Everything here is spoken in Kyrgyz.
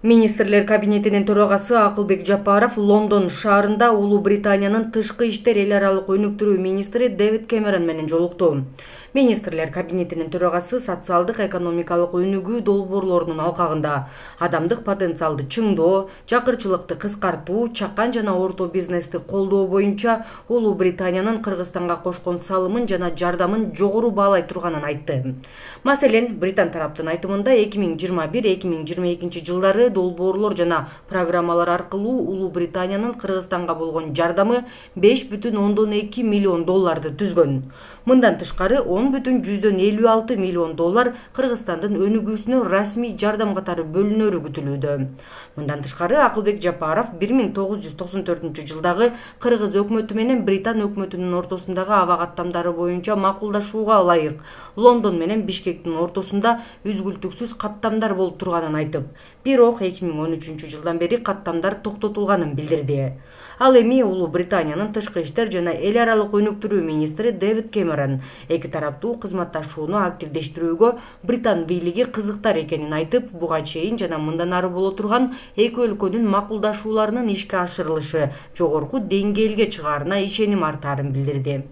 Министрлер кабинетинин төрагасы Акылбек Жапаров Лондон шаарында Улуу Британиянын тышкы иштер эл аралык өнүктүрүү министри Дэвид Кэмерон менен жолукту. Министрлер кабинетинин төрагасы социалдык экономикалык өнүгүү долбоорлорунун алкагында адамдык потенциалды чыңдоо, жакырчылыкты кыскартуу, чакан жана орто бизнести колдоо боюнча Улуу Британиянын Кыргызстанга кошкон салымын жана жардамын жогору баалай турганын айтты. Маселен, Британ тараптын айтымында 2021-2022 жылдары долбоорлор жана программалар аркылуу Улуу Британиянын Кыргызстанга болгон жардамы $5,2 миллион түзгөн. Мындан тышкары $10,56 миллион Кыргызстандын өнүгүүсүнө расмий жардам катары бөлүнөрү күтүлүүдө. Мындан тышкары Акылбек Жапаров 1994 жылдагы Кыргыз өкмөтү менен Британ өкмөтүнүн ортосундагы аба каттамдары боюнча макулдашууга ылайык Лондон менен Бишкектин ортосунда үзгүлтүксүз каттамдар болуп турганын айтып, бирок 2013 жылдан бери каттамдар токтотулганын билдирди. Ал эми Улуу Британиянын тышкы иштер жана эл аралык өнүктүрүү министри Дэвид Кэмерон эки тараптуу кызматташууну активдештирүүгө Британ бийлиги кызыктар экенин айтып, буга чейин жана мындан ары боло турган эки өлкөнүн макулдашууларынын ишке ашырылышы жогорку деңгээлге чыгаарына ишеним артаарын билдирди.